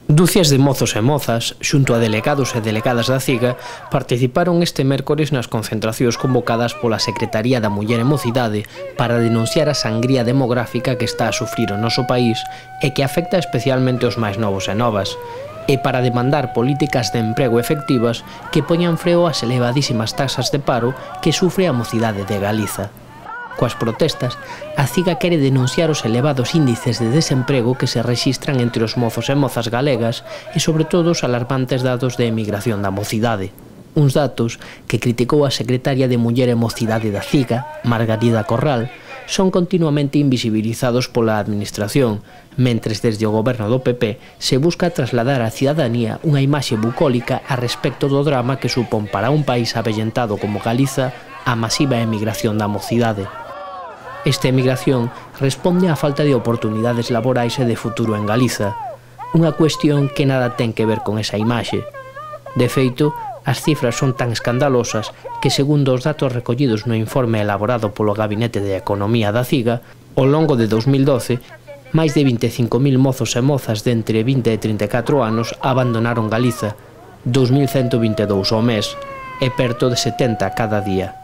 Ducias de mozos e mozas, xunto a delegados e delegadas da CIGA, participaron este mércores nas concentracións convocadas pola Secretaría da Muller e Mocidade para denunciar a sangría demográfica que está a sufrir o noso país e que afecta especialmente os máis novos e novas, e para demandar políticas de emprego efectivas que poñan freo ás elevadísimas taxas de paro que sufre a mocidade de Galiza. Coas protestas, a CIGA quere denunciar os elevados índices de desemprego que se rexistran entre os mozos e mozas galegas e sobre todo os alarmantes datos de emigración da mocidade. Uns datos que criticou a secretaria de Muller e Mocidade da CIGA, Margarida Corral, son continuamente invisibilizados pola administración, mentres desde o goberno do PP se busca trasladar á cidadanía unha imaxe bucólica a respecto do drama que supón para un país avellentado como Galiza a masiva emigración da mocidade. Esta emigración responde á falta de oportunidades laborais e de futuro en Galiza, unha cuestión que nada ten que ver con esa imaxe. De feito, as cifras son tan escandalosas que, segundo os datos recollidos no informe elaborado polo Gabinete de Economía da CIGA, ao longo de 2012, máis de 25.000 mozos e mozas de entre 20 e 34 anos abandonaron Galiza, 2.122 ao mes, e perto de 70 cada día.